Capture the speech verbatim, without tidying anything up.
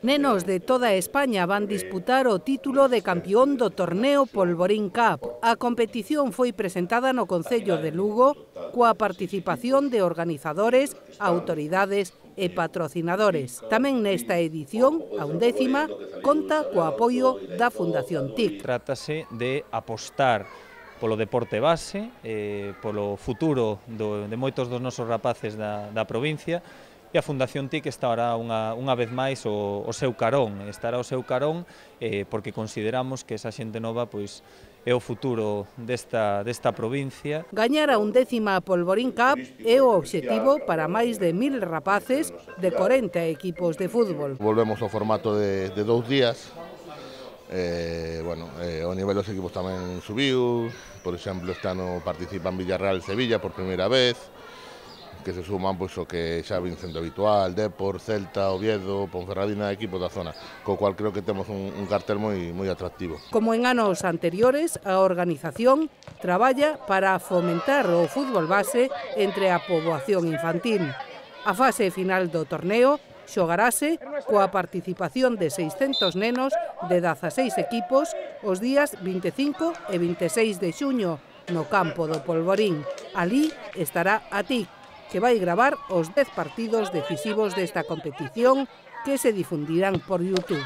Nenos de toda España van disputar o título de campeón do torneo Polvorín Cup. A competición foi presentada no Concello de Lugo coa participación de organizadores, autoridades e patrocinadores. Tamén nesta edición, a undécima, conta co apoio da Fundación T I C. Trátase de apostar polo deporte base, eh, polo futuro do, de moitos dos nosos rapaces da, da provincia, e a Fundación T I C estará unha, unha vez máis o, o seu carón, estará o seu carón eh, porque consideramos que esa xente nova pois, é o futuro desta, desta provincia. Gañar a undécima Polvorín Cup é o obxectivo para máis de mil rapaces de corenta equipos de fútbol. Volvemos ao formato de, de dous días. Eh, bueno, eh, o nivel dos equipos tamén subiu, por exemplo, este ano participan Villarreal e Sevilla por primeira vez, que se suman pois, o que xa vin sendo habitual, Depor, Celta, Oviedo, Ponferradina, equipos da zona, co cual creo que temos un, un cartel moi, moi atractivo. Como en anos anteriores, a organización traballa para fomentar o fútbol base entre a poboación infantil. A fase final do torneo xogarase coa participación de seiscentos nenos de dezaseis equipos os días vinte e cinco e vinte e seis de xuño no campo do Polvorín. Alí estará a T I C, que vai gravar os dez partidos decisivos desta competición que se difundirán por YouTube.